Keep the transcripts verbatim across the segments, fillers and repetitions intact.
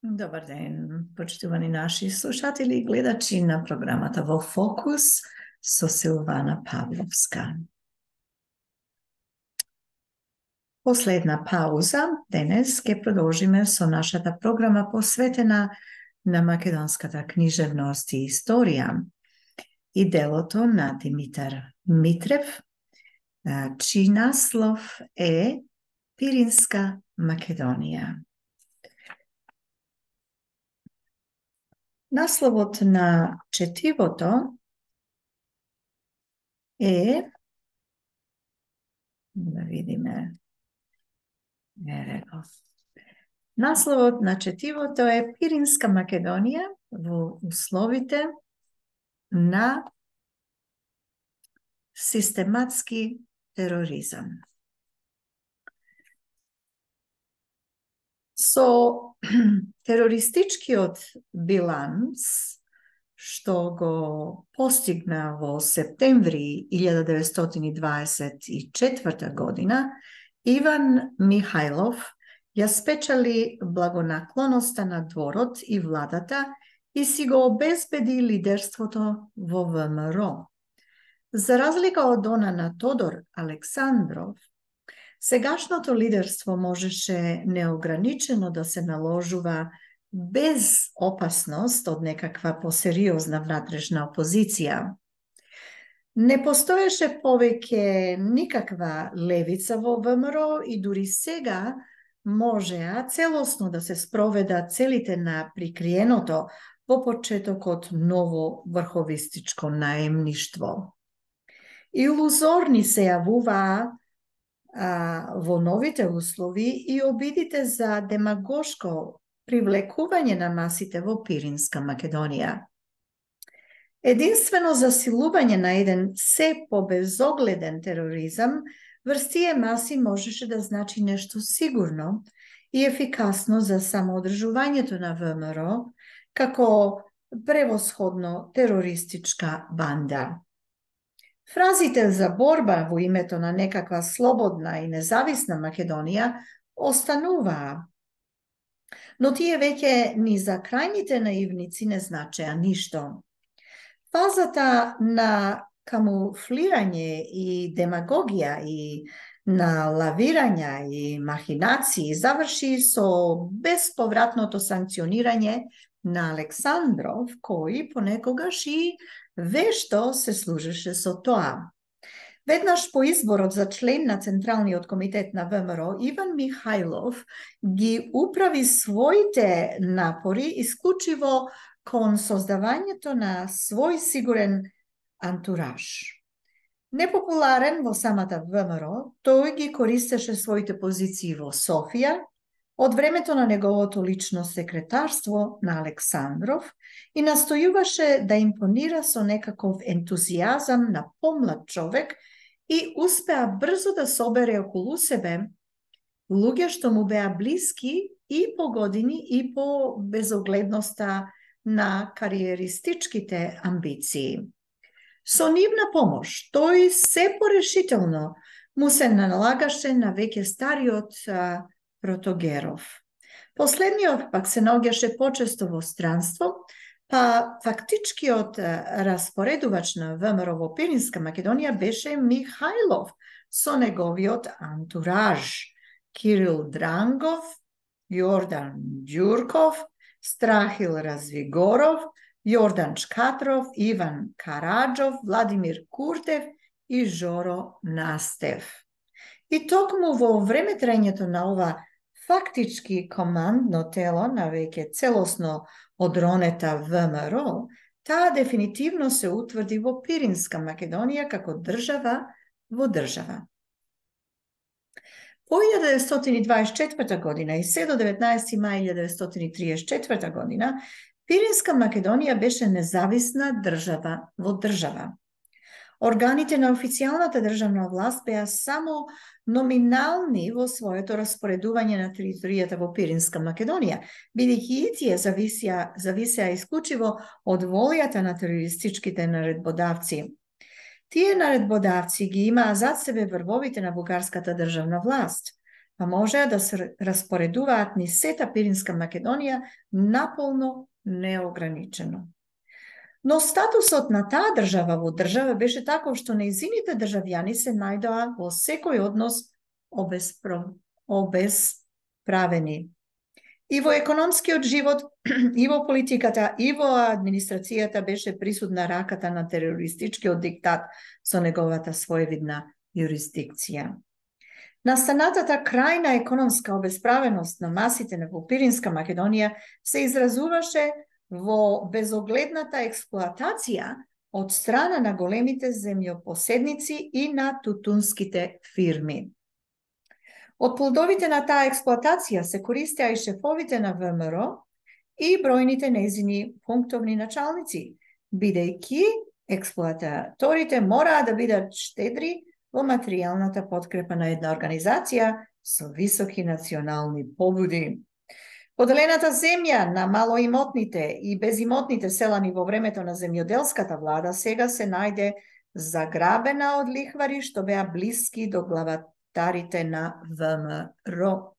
Добар ден, почитувани наши слушатели и гледачи на програмата Во Фокус со Силвана Павловска. Последна пауза, денес ќе продолжиме со нашата програма посветена на македонската книжевност и историја и делото на Димитар Митрев, чиј наслов е Пиринска Македонија. Насловот на четивото е, да видиме, ево. Насловот на четивото е Пиринска Македонија во условите на систематски тероризам. Со терористичкиот биланс што го постигна во септември илјада деветстотини дваесет и четврта година, Иван Михајлов ја спечели благонаклоноста на дворот и владата и си го обезбеди лидерството во ВМРО. За разлика од она на Тодор Александров, сегашното лидерство можеше неограничено да се наложува без опасност од некаква посериозна внатрешна опозиција. Не постоеше повеќе никаква левица во ВМРО и дури сега можеа целосно да се спроведат целите на прикриеното во почетокот ново врховистичко наемништво. Илузорни се јавуваа а, во новите услови и обидите за демагошко привлекување на масите во Пиринска Македонија. Единствено засилување на еден се побезогледен тероризам врз тие маси можеше да значи нешто сигурно и ефикасно за самоодржувањето на ВМРО како превосходно терористичка банда. Фразите за борба во името на некаква слободна и независна Македонија остануваа, но тие веќе ни за крајните наивници не значеа ништо. Фазата на камуфлирање и демагогија и на лавирања и махинации заврши со безповратното санкционирање на Александров, кој понекогаш и вешто се служеше со тоа. Веднаш по изборот за член на Централниот комитет на ВМРО, Иван Михајлов ги управи своите напори исклучиво кон создавањето на свој сигурен антураж. Непопуларен во самата ВМРО, тој ги користеше своите позиции во Софија, од времето на неговото лично секретарство на Александров и настојуваше да импонира со некаков ентузијазам на помлад човек и успеа брзо да собере околу себе луѓе што му беа блиски и по години и по безогледноста на кариеристичките амбиции. Со нивна помош, тој се порешително му се налагаше на веќе стариот а, Протогеров. Последниот пак се наоѓаше почесто во странство, па фактичкиот распоредувач на ВМРО во Пиринска Македонија беше Михајлов со неговиот антураж Кирил Дрангов, Јордан Ѓурков, Страхил Развигоров, Јордан Чкатров, Иван Караджов, Владимир Куртев и Жоро Настев. И токму во време трајањето на ова фактички командно тело на веќе целосно одронета ВМРО, таа дефинитивно се утврди во Пиринска Македонија како држава во држава. По илјада деветстотини дваесет и четврта година и се до деветнаесети мај илјада деветстотини триесет и четврта година, Пиринска Македонија беше независна држава во држава. Органите на официјалната државна власт беа само номинални во своето распоредување на територијата во Пиринска Македонија, бидејќи и тие зависеа, зависеа исклучиво од волјата на терористичките наредбодавци. Тие наредбодавци ги имаа зад себе врвовите на бугарската државна власт. па можеа да се распоредуваат низ сета Пиринска Македонија наполно неограничено. Но статусот на таа држава во држава беше таков што нејзините државјани се најдоа во секој однос обесправени. И во економскиот живот, и во политиката, и во администрацијата беше присутна раката на терористичкиот диктат со неговата своевидна јурисдикција. Настанатата крајна економска обесправеност на масите во Пиринска Македонија се изразуваше во безогледната експлоатација од страна на големите земјопоседници и на тутунските фирми. Од плодовите на таа експлоатација се користеа и шефовите на ВМРО и бројните нејзини пунктовни началници, бидејќи експлоататорите мораа да бидат штедри во материјалната подкрепа на една организација со високи национални побуди. Поделената земја на малоимотните и безимотните селани во времето на земјоделската влада сега се најде заграбена од лихвари што беа блиски до главатарите на ВМРО.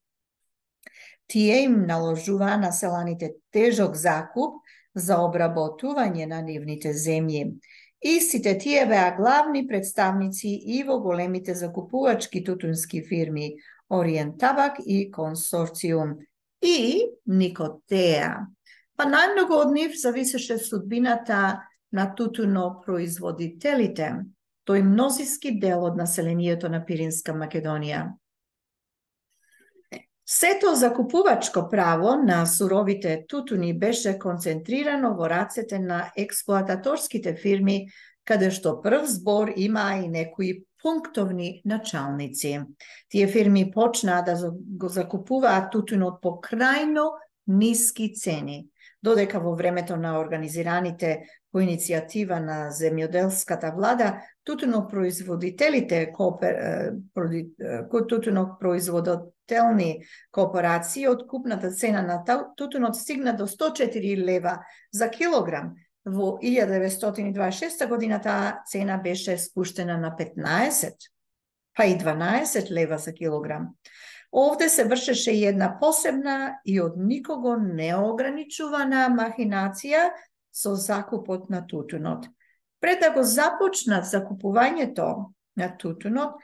Тие им наложуваа на селаните тежок закуп за обработување на нивните земји. Истите тие беа главни представници и во големите закупувачки тутунски фирми Ориент Табак и Консорциум и Никотеа. Па најмногу од нив зависеше судбината на тутунопроизводителите, тој мнозиски дел од населението на Пиринска Македонија. Сето закупувачко право на суровите тутуни беше концентрирано во рацете на експлоататорските фирми, каде што прв збор имаа и некои пунктовни началници. Тие фирми почнаа да го закупуваат тутунот по крајно ниски цени, додека во времето на организираните по иницијатива на земјоделската влада, тутунопроизводителите, тутунопроизводителни кооперации, откупната цена на тутунот стигна до сто четири лева за килограм. Во илјада деветстотини дваесет и шеста година таа цена беше спуштена на петнаесет, па и дванаесет лева за килограм. Овде се вршеше и една посебна и од никого неограничувана махинација со закупот на тутунот. Пред да го започнат закупувањето на тутунот,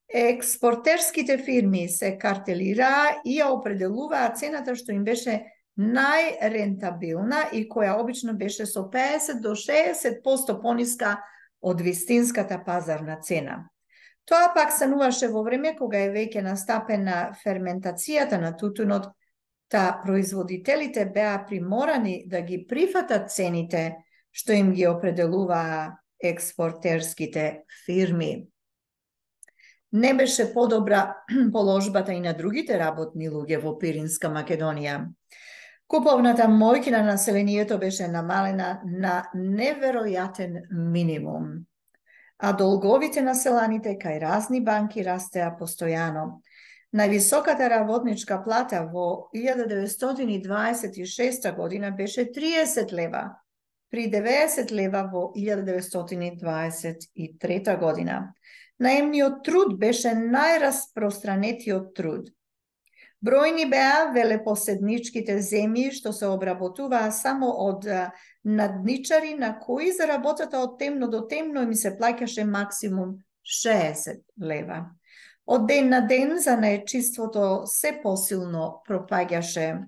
експортерските фирми се картелираа и ја определуваа цената што им беше најрентабилна и која обично беше со педесет до шеесет проценти пониска од вистинската пазарна цена. Тоа пак стануваше во време кога е веќе настапена ферментацијата на тутунот, та производителите беа приморани да ги прифатат цените што им ги определуваа експортерските фирми. Не беше подобра положбата и на другите работни луѓе во Пиринска Македонија. Куповната моќ на населението беше намалена на неверојатен минимум, а долговите на селаните кај разни банки растеа постојано. Највисоката работничка плата во илјада деветстотини дваесет и шеста година беше триесет лева, при деветдесет лева во илјада деветстотини дваесет и трета година. Наемниот труд беше најраспространетиот труд. Бројни беа велепоседничките земји што се обработуваа само од надничари на кои за работата од темно до темно им се плаќаше максимум шеесет лева. Од ден на ден за наечиството се посилно пропаѓаше.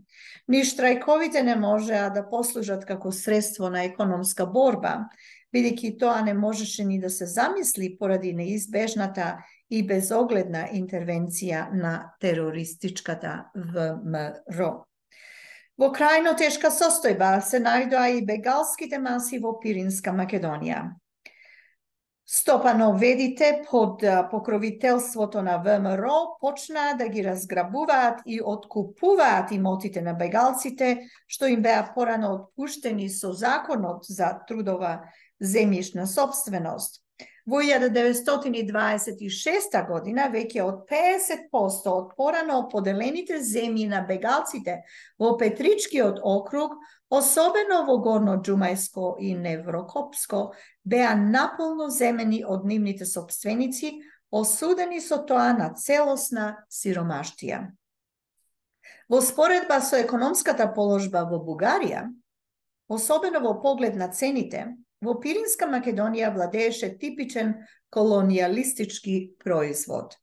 Ни штрајковите не можеа да послужат како средство на економска борба, бидејќи тоа не можеше ни да се замисли поради неизбежната и безогледна интервенција на терористичката ВМРО. Во крајно тешка состојба се најдоа и бегалските маси во Пиринска Македонија. Стопановедите под покровителството на ВМРО почнаа да ги разграбуваат и откупуваат имотите на бегалците, што им беа порано отпуштени со законот за трудова земјишна сопственост. Во илјада деветстотини дваесет и шеста година веќе од педесет проценти од порано поделените земји на бегалците во Петричкиот округ, особено во Горно Џумајско и Неврокопско, беа наполно земени од нивните сопственици, осудени со тоа на целосна сиромаштија. Во споредба со економската положба во Бугарија, особено во поглед на цените, во Пиринска Македонија владееше типичен колонијалистички производ.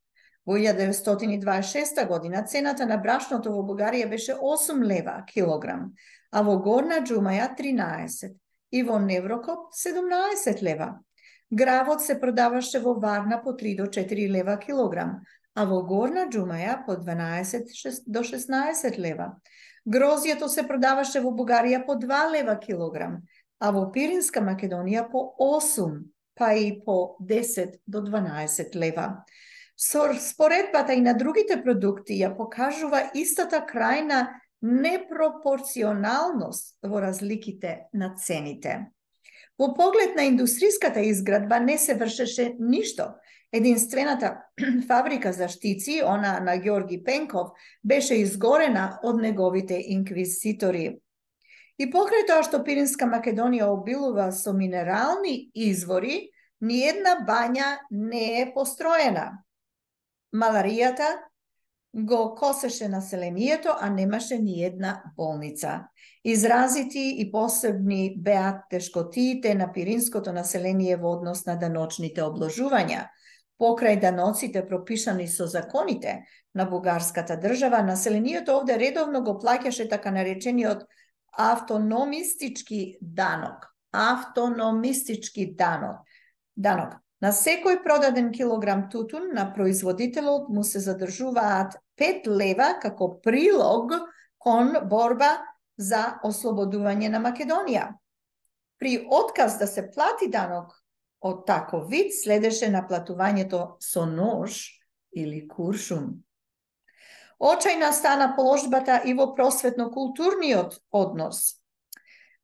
Во илјада деветстотини дваесет и шеста година цената на брашното во Бугарија беше осум лева килограм, а во Горна Џумаја тринаесет и во Неврокоп седумнаесет лева. Гравот се продаваше во Варна по три до четири лева килограм, а во Горна Џумаја по дванаесет до шеснаесет лева. Грозјето се продаваше во Бугарија по два лева килограм, а во Пиринска Македонија по осум, па и по десет до дванаесет лева. Споредбата и на другите продукти ја покажува истата крајна непропорционалност во разликите на цените. Во поглед на индустријската изградба не се вршеше ништо. Единствената фабрика за штици, она на Ѓорги Пенков, беше изгорена од неговите инквизитори. И покрај тоа што Пиринска Македонија обилува со минерални извори, ниедна бања не е построена. Маларијата го косеше населението, а немаше ни една болница. Изразити и посебни беа тешкотиите на пиринското население во однос на даночните обложувања. Покрај даноците пропишани со законите на бугарската држава, населението овде редовно го плаќаше така наречениот автономистички данок. Автономистички данок. Данок. На секој продаден килограм тутун на производителот му се задржуваат пет лева како прилог кон борба за ослободување на Македонија. При отказ да се плати данок од таков вид следеше наплатувањето со нож или куршум. Очајна стана положбата и во просветно-културниот однос.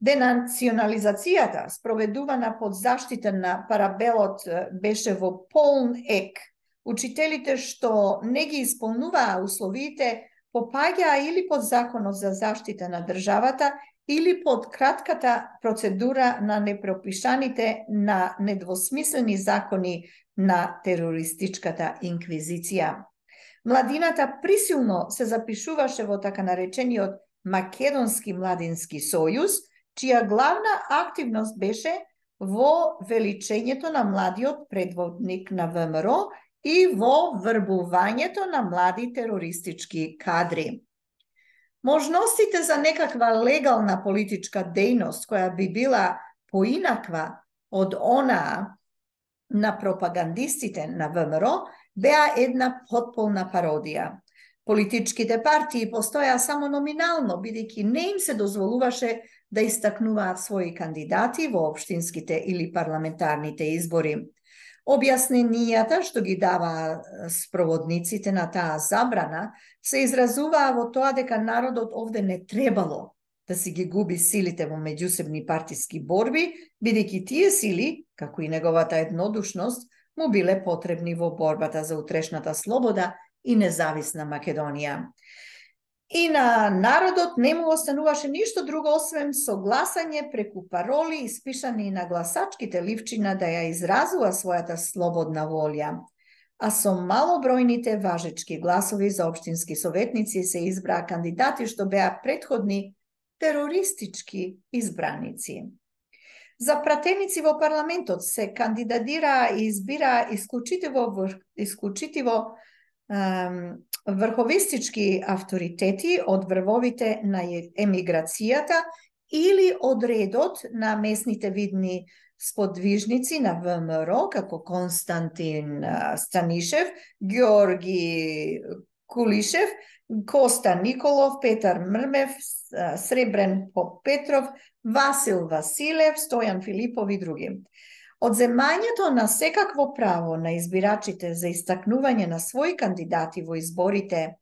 Денационализацијата, спроведувана под заштита на Парабелот, беше во полн ек. Учителите што не ги исполнуваа условиите попаѓаа или под законот за заштита на државата, или под кратката процедура на непропишаните на недвосмислени закони на терористичката инквизиција. Младината присилно се запишуваше во така наречениот Македонски младински сојуз, чија главна активност беше во величењето на младиот предводник на ВМРО и во врбувањето на млади терористички кадри. Можностите за некаква легална политичка дејност, која би била поинаква од онаа на пропагандистите на ВМРО, беа една потполна пародија. Политичките партии постоја само номинално, бидејќи не им се дозволуваше да истакнуваат своји кандидати во општинските или парламентарните избори. Објасненијата што ги дава спроводниците на таа забрана се изразуваа во тоа дека народот овде не требало да си ги губи силите во меѓусебни партиски борби, бидејќи тие сили, како и неговата еднодушност, му биле потребни во борбата за утрешната слобода и независна Македонија. И на народот не му остануваше ништо друго освен согласање преку пароли испишани на гласачките ливчина да ја изразува својата слободна волја. А со малобројните важечки гласови за општински советници се избраа кандидати што беа претходни терористички избраници. За пратеници во парламентот се кандидатираа и избираа исклучитиво, исклучитиво врховистички авторитети од врвовите на емиграцијата или од редот на местните видни сподвижници на ВМРО, како Константин Станишев, Ѓорги Кулишев, Коста Николов, Петар Мрмев, Сребрен Попетров, Васил Василев, Стојан Филипов и други. Одземањето на секакво право на избирачите за истакнување на своји кандидати во изборите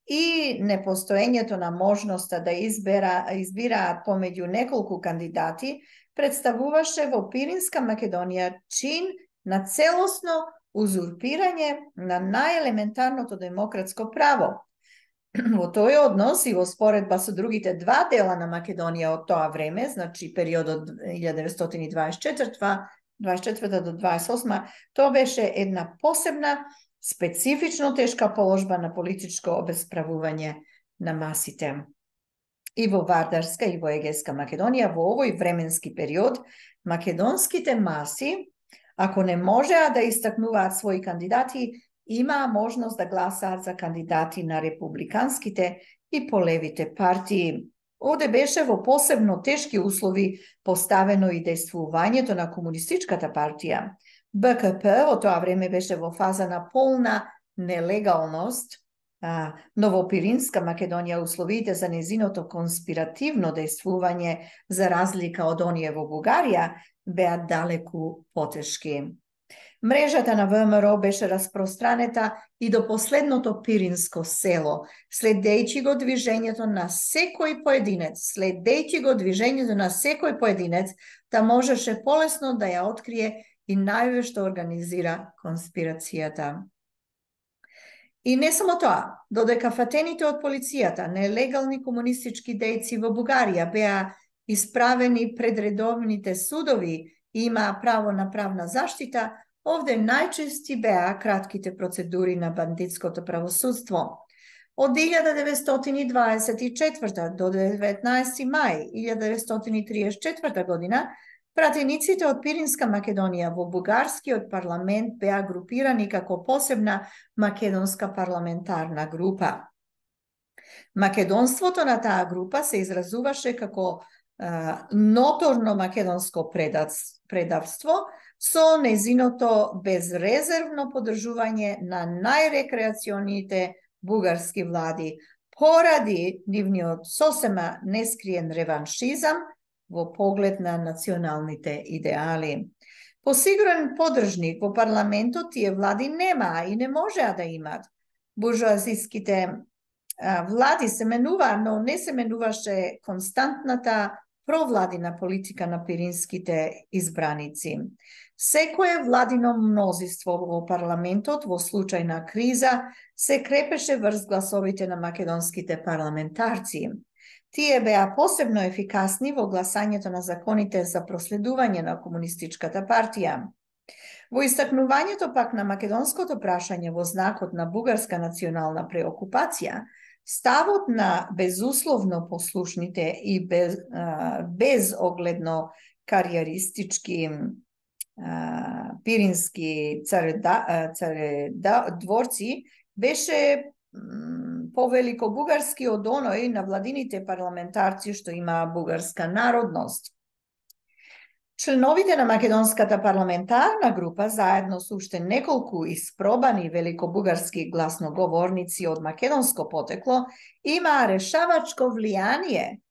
и непостоењето на можноста да избера, избираат помеѓу неколку кандидати представуваше во Пиринска Македонија чин на целосно узурпирање на најелементарното демократско право. Во тој однос и во споредба со другите два дела на Македонија од тоа време, значи периодот илјада деветстотини дваесет и четврта дваесет и четврта до дваесет и осма, тоа беше една посебна, специфично тешка положба на политичко обесправување на масите. И во Вардарска и во Егејска Македонија во овој временски период македонските маси, ако не можеа да истакнуваат своји кандидати, имаа можност да гласаат за кандидати на републиканските и полевите партии. Овде беше во посебно тешки услови поставено и дејствувањето на Комунистичката партија. Б К П во тоа време беше во фаза на полна нелегалност, а, но во Пиринска Македонија условите за незиното конспиративно дејствување, за разлика од оние во Бугарија, беа далеку потешки. Мрежата на В М Р беше распространета и до последното пиринско село, следејќи го движењето на секој поединец, следејќи го движењето на секој поединец, та можеше полесно да ја открие и најве што организира конспирацијата. И не само тоа, додека фатените од полицијата, нелегални комунистички дејци во Бугарија беа исправени пред редовните судови и имаа право на правна заштита, овде најчести беа кратките процедури на бандитското правосудство. Од илјада деветстотини и дваесет и четврта до деветнаесети мај илјада деветстотини и триесет и четврта година, пратениците од Пиринска Македонија во бугарскиот парламент беа групирани како посебна македонска парламентарна група. Македонството на таа група се изразуваше како а, ноторно македонско предавство, со незиното безрезервно подржување на најрекреационите бугарски влади, поради нивниот сосема нескриен реваншизам во поглед на националните идеали. Посигурен подржник во парламентот тие влади немаа и не можеа да имат. Буржуазиските влади се менуваа, но не се менуваше константната провладина политика на пиринските избраници. Секое владино мнозинство во парламентот во случај на криза се крепеше врз гласовите на македонските парламентарци. Тие беа посебно ефикасни во гласањето на законите за проследување на Комунистичката партија. Во истакнувањето пак на македонското прашање во знакот на бугарска национална преокупација, ставот на безусловно послушните и без, а, безогледно кариеристички а, пирински цареда, цареда, дворци беше повелико бугарски од оној на владините парламентарци што имаа бугарска народност. Членовите на македонската парламентарна група, заедно со уште неколку испробани великобугарски гласноговорници од македонско потекло, имаа решавачко влијание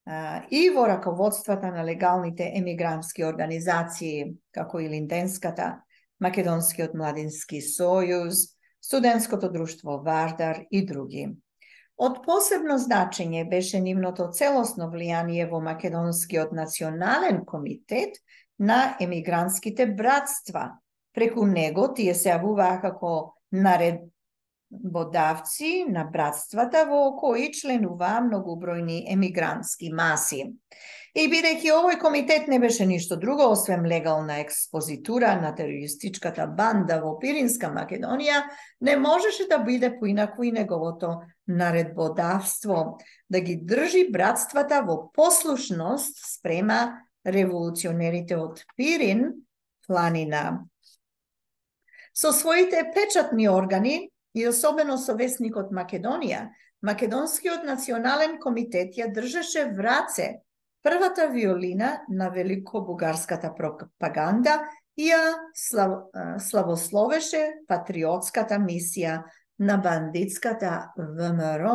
а, и во раководствата на легалните емигрантски организации, како и Линденската, Македонскиот младински сојуз, Студентското друштво Вардар и други. Од посебно значење беше нивното целосно влијание во Македонскиот национален комитет на емигрантските братства. Преку него тие се јавуваа како наредбодавци на братствата во кои членуваа многобројни емигрантски маси. И бидејќи овој комитет не беше ништо друго освен легална експозитура на терористичката банда во Пиринска Македонија, не можеше да биде поинаку и неговото наредбодавство, да ги држи братствата во послушност спрема револуционерите од Пирин, планина. Со своите печатни органи и особено со Весникот Македонија, Македонскиот национален комитет ја држеше в раце првата виолина на великобугарската пропаганда и ја слав, славословеше патриотската мисија на бандитската В М Р.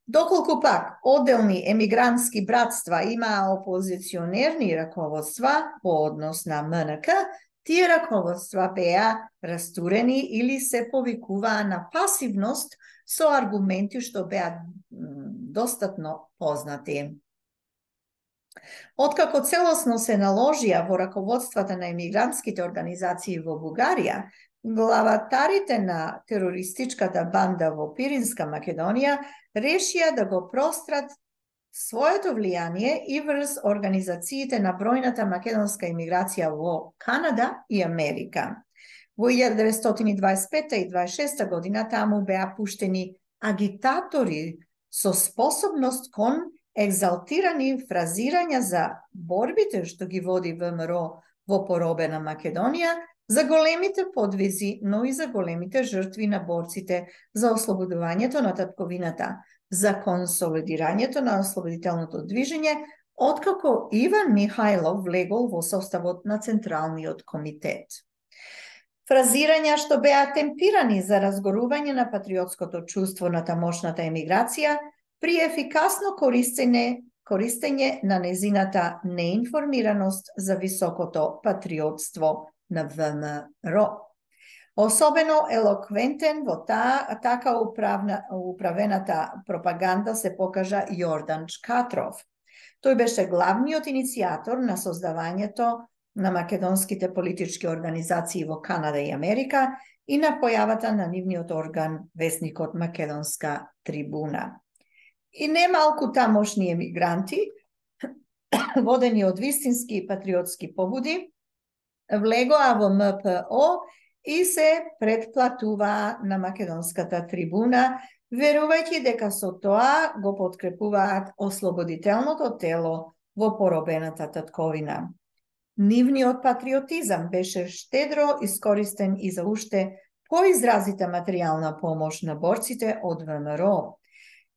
Доколку пак одделни емигрантски братства имаа опозиционерни раководства по однос на М Н К, тие раководства беа растурени или се повикуваа на пасивност со аргументи што беа достатно познати. Откако целосно се наложија во раководствата на емигрантските организации во Бугарија, главатарите на терористичката банда во Пиринска Македонија решија да го прострат своето влијание и врз организациите на бројната македонска имиграција во Канада и Америка. Во илјада деветстотини дваесет и пета и дваесет и шеста година таму беа пуштени агитатори со способност кон екзалтирани фразирања за борбите што ги води ВМРО во поробена Македонија, за големите подвизи, но и за големите жртви на борците за ослободувањето на татковината, за консолидирањето на ослободителното движење, откако Иван Михајлов влегол во составот на Централниот комитет. Фразирања што беа темпирани за разгорување на патриотското чувство на тамошната емиграција при ефикасно користење, користење на незината неинформираност за високото патриотство на ВМРО. Особено елоквентен во таа така управна, управената пропаганда се покажа Јордан Чкатров. Тој беше главниот иницијатор на создавањето на македонските политички организации во Канада и Америка и на појавата на нивниот орган, весникот Македонска трибуна. И немалку тамошни емигранти, водени од вистински патриотски побуди, влегоа во МПО и се претплатуваа на Македонската трибуна, верувајќи дека со тоа го подкрепуваат ослободителното тело во поробената татковина. Нивниот патриотизам беше штедро искористен и за уште поизразита материјална помош на борците од ВМРО.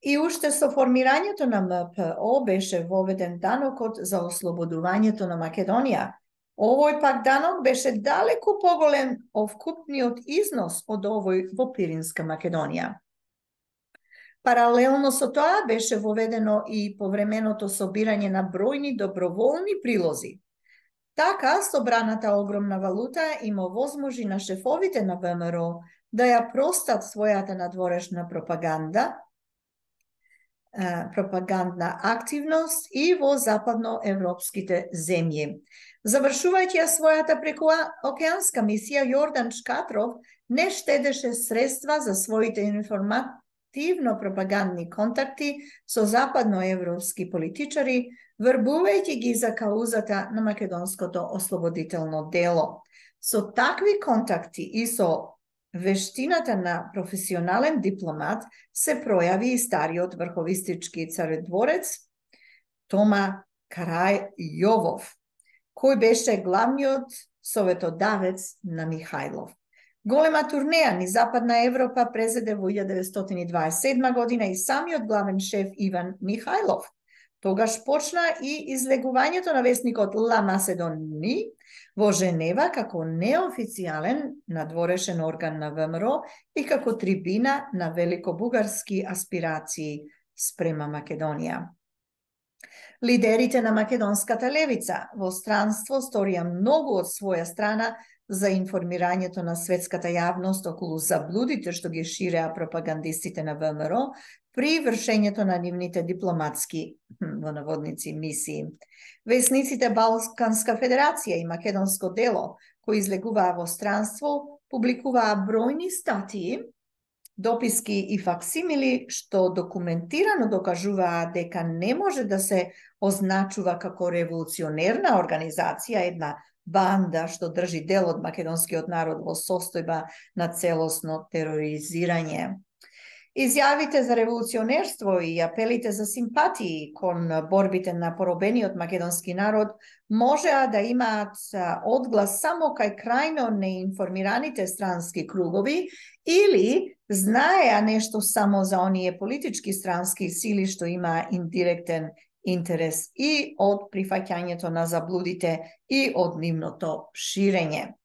И уште со формирањето на МПО беше воведен данокот за ослободувањето на Македонија. Овој пак данок беше далеку поголем од вкупниот износ од овој во Пиринска Македонија. Паралелно со тоа беше воведено и повременото собирање на бројни доброволни прилози. Така, собраната огромна валута им овозможи на шефовите на ВМРО да ја простат својата надворешна пропаганда, пропагандна активност и во западноевропските земји. Завршувајќи ја својата прекуокеанска мисија, Јордан Чкатров не штедеше средства за своите информативно-пропагандни контакти со западноевропски политичари, врбувајќи ги за каузата на македонското ослободително дело. Со такви контакти и со вештината на професионален дипломат се пројави и стариот врховистички царедворец Тома Карајовов, кој беше главниот советодавец на Михајлов. Голема турнеја низ Западна Европа презеде во илјада деветстотини дваесет и седма година и самиот главен шеф Иван Михајлов. Тогаш почна и излегувањето на весникот Ла Маседони во Женева како неофицијален надворешен орган на ВМРО и како трибина на великобугарски аспирации спрема Македонија. Лидерите на македонската левица во странство сторија многу од своја страна за информирањето на светската јавност околу заблудите што ги ширеа пропагандистите на ВМРО при вршењето на нивните дипломатски, во наводници, мисии. Весниците Балканска федерација и Македонско дело, кои излегуваа во странство, публикуваа бројни статии, дописки и факсимили што документирано докажуваа дека не може да се означува како револуционерна организација една банда што држи дел од македонскиот народ во состојба на целосно тероризирање. Изјавите за револуционерство и апелите за симпатии кон борбите на поробениот македонски народ можеа да имаат одглас само кај крајно неинформираните странски кругови или знаеа нешто само за оние политички странски сили што имаа индиректен интерес и од прифаќањето на заблудите и од нивното ширење.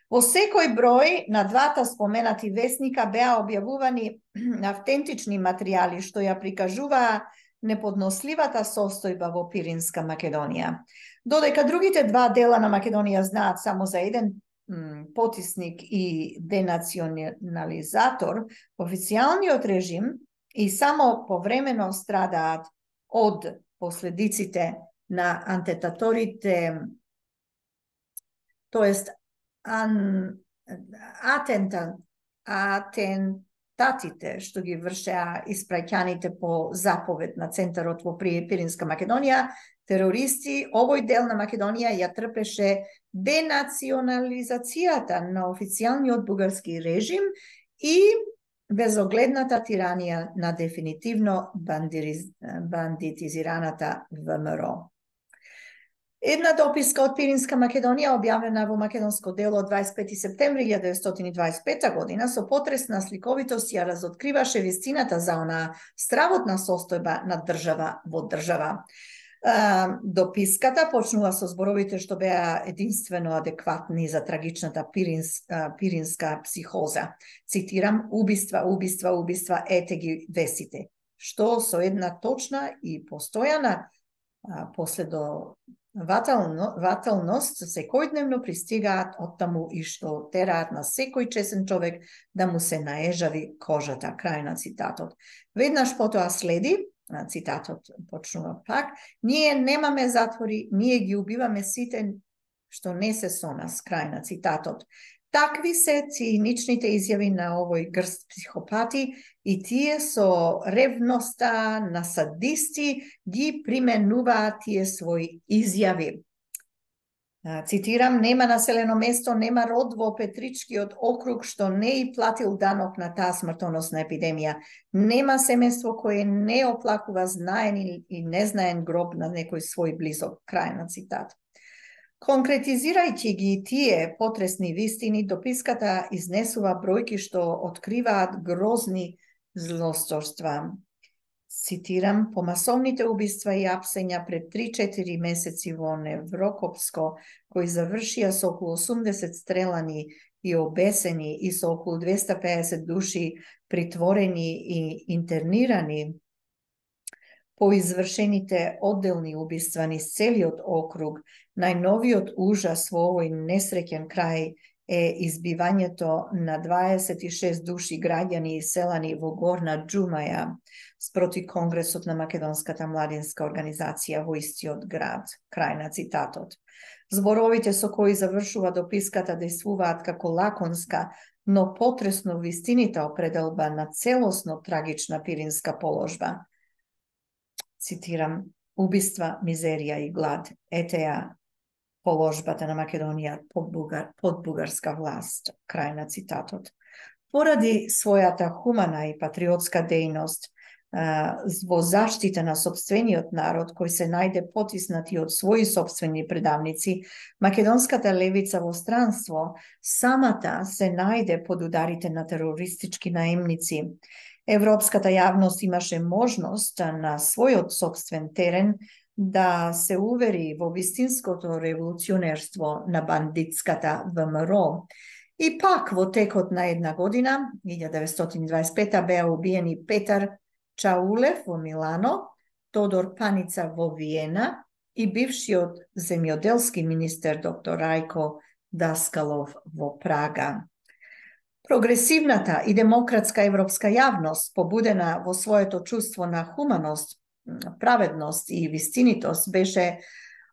Во секој број на двата споменати весника беа објавувани автентични материјали што ја прикажуваа неподносливата состојба во Пиринска Македонија. Додека другите два дела на Македонија знаат само за еден потисник и денационализатор, официјалниот режим и само повремено страдаат од последиците на антетаторите, тоест ан, атента, атентаторите атентатите што ги вршеа испраќаните по заповед на центарот во Пиринска Македонија, терористи, овој дел на Македонија ја трпеше денационализацијата на официјалниот бугарски режим и безогледната тиранија на дефинитивно бандитизираната ВМРО. Една дописка од Пиринска Македонија, објавена во македонско дело од дваесет и пети септември илјада деветстотини и дваесет и пета година, со потресна сликовитост ја разоткриваше вистината за онаа стравотна состојба на држава во држава. Дописката почнува со зборовите што беа единствено адекватни за трагичната пиринска, пиринска психоза. Цитирам: убиства, убиства, убиства, ете ги весите. Што со една точна и постојана последователност секојдневно пристигаат оттаму и што тераат на секој чесен човек да му се наежави кожата. Крај на цитатот. Веднаш потоа следи, цитатот почнува пак: ние немаме затвори, ние ги убиваме сите што не се со нас. Крај на цитатот. Такви се циничните изјави на овој грст психопати и тие со ревноста на садисти ги применуваат тие своји изјави. Цитирам: нема населено место, нема род во Петричкиот округ што не и платил данок на таа смртоносна епидемија. Нема семејство кое не оплакува знаен и незнаен гроб на некој свој близок. Крај на цитат. Конкретизирајќи ги тие потресни вистини, дописката изнесува бројки што откриваат грозни злосторства. Цитирам: по масовните убиства и апсења пред три-четири месеци во Неврокопско, кои завршија со околу осумдесет стрелани и обесени и со околу двеста и педесет души притворени и интернирани, по извршените одделни убиства низ целиот округ, најновиот ужас во овој несреќен крај е избивањето на дваесет и шест души граѓани и селани во Горна Џумаја спроти Конгресот на Македонската младинска организација во истиот град. Крај на цитатот. Зборовите со кои завршува дописката действуваат како лаконска, но потресно вистинита определба на целосно трагична пиринска положба. Цитирам: убиства, мизерија и глад, ете ја положбата на Македонија под, бугар, под бугарска власт. Крај на цитатот. Поради својата хумана и патриотска дејност во заштита на сопствениот народ, кој се најде потиснати од своји сопствени предавници, македонската левица во странство самата се најде под ударите на терористички наемници. Европската јавност имаше можност на својот сопствен терен да се увери во вистинското револуционерство на бандитската ВМРО. И пак во текот на една година, илјада деветстотини и дваесет и пета, беа убиени Петар Чаулев во Милано, Тодор Паница во Виена и бившиот земјоделски министер доктор Рајко Даскалов во Прага. Прогресивната и демократска европска јавност, побудена во своето чувство на хуманост, праведност и вистинитост, беше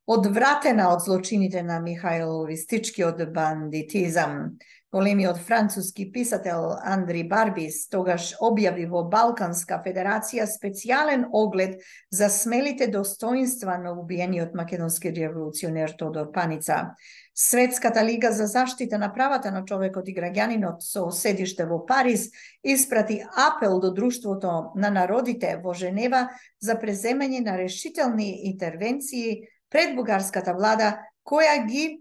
одвратена од злочините на Михаил Ристичкиот бандитизам. Големиот француски писател Андри Барбис тогаш објави во Балканска федерација специјален оглед за смелите достоинства на убиениот македонски револуционер Тодор Паница. Светската лига за заштита на правата на човекот и граѓанинот со седиште во Париз испрати апел до Друштвото на народите во Женева за преземање на решителни интервенции пред бугарската влада, која ги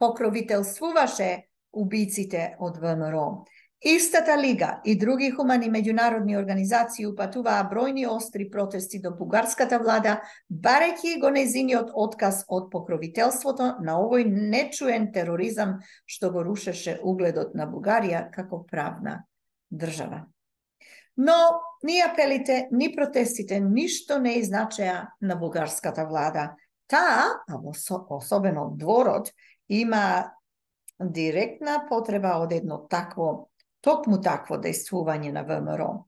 покровителствуваше убиците од ВМРО. Истата лига и други хумани меѓународни организации упатуваа бројни остри протести до бугарската влада, барејќи го нејзиниот отказ од покровителството на овој нечуен тероризам што го рушеше угледот на Бугарија како правна држава. Но ни апелите, ни протестите ништо не изначеа на бугарската влада. Таа, а особено дворот, има директна потреба од едно такво, токму такво дејствување на ВМРО.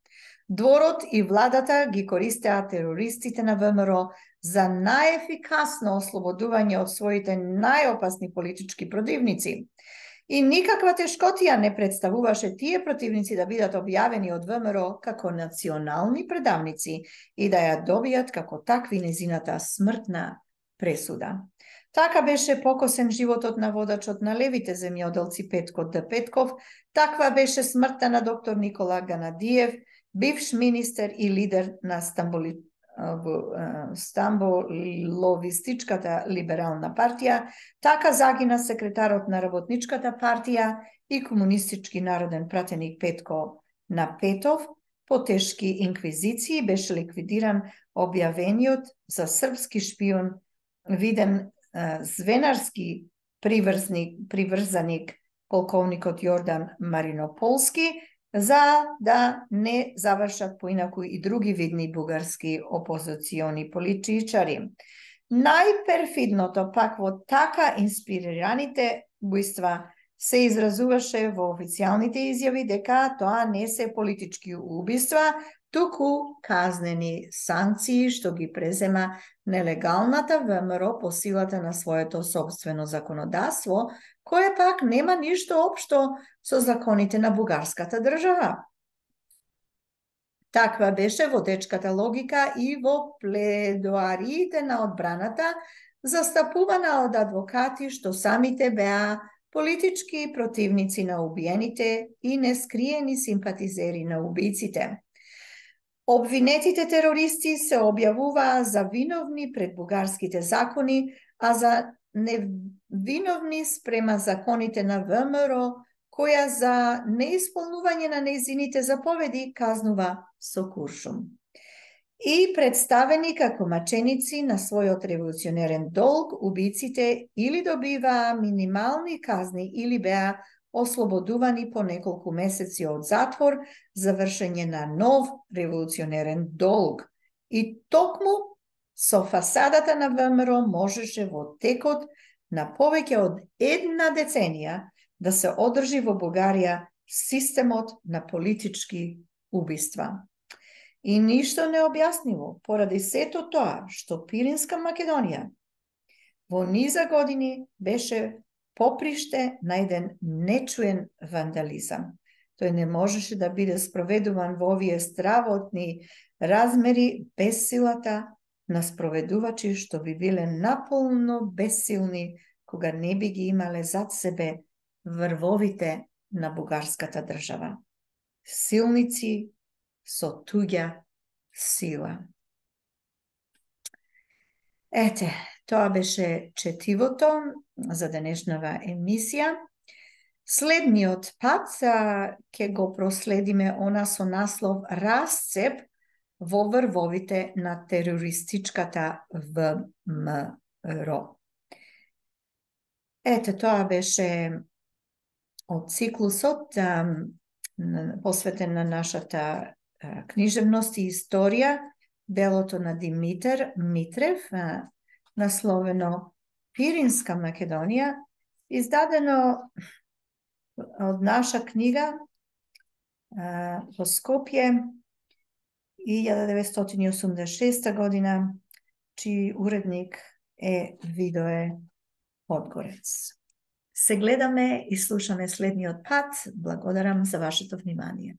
Дворот и владата ги користеа терористите на ВМРО за најефикасно ослободување од своите најопасни политички противници. И никаква тешкотија не представуваше тие противници да бидат објавени од ВМРО како национални предавници и да ја добијат како такви незината смртна пресуда. Така беше покосен животот на водачот на левите земјоделци Петко Д. Петков, таква беше смртта на доктор Никола Ганадиев, бивш министер и лидер на Стамбули, Стамболовистичката либерална партија, така загина секретарот на Работничката партија и комунистички народен пратеник Петко Напетов, по тешки инквизиции беше ликвидиран објавениот за српски шпион виден звенарски приврзник, приврзаник полковникот Јордан Маринополски, за да не завршат поинаку и други видни бугарски опозициони политичари. Најперфидното пак во така инспирираните бујства се изразуваше во официјалните изјави дека тоа не се политички убиства, туку казнени санкции што ги презема нелегалната ВМРО по силата на своето собствено законодавство, кое пак нема ништо општо со законите на бугарската држава. Таква беше водечката логика и во пледоариите на одбраната, застапувана од адвокати што самите беа политички противници на убиените и нескриени симпатизери на убиците. Обвинетите терористи се објавуваа за виновни пред бугарските закони, а за невиновни спрема законите на ВМРО, која за неисполнување на нејзините заповеди казнува со куршум. И представени како маченици на својот револуционерен долг, убиците или добиваа минимални казни или беа ослободувани по неколку месеци од затвор за вршење на нов револуционерен долг. И токму со фасадата на ВМРО можеше во текот на повеќе од една деценија да се одржи во Бугарија системот на политички убиства. И ништо необјаснливо, поради сето тоа што Пиринска Македонија во низа години беше поприште на еден нечуен вандализам. Тој не можеше да биде спроведуван во овие стравотни размери без силата на спроведувачи што би биле наполно бесилни кога не би ги имале зад себе врвовите на бугарската држава. Силници со туѓа сила. Ете, тоа беше четивото за денешнава емисија. Следниот пат ќе го проследиме она со наслов Расцеп во врвовите на терористичката ВМРО. Ете, тоа беше од циклусот посветен на нашата книжевност и историја, делото на Димитар Митрев, насловено Пиринска Македонија, издадено од наша книга во Скопје илјада деветстотини осумдесет и шеста година, чиј уредник е Видое Подгорец. Се гледаме и слушаме следниот пат. Благодарам за вашето внимание.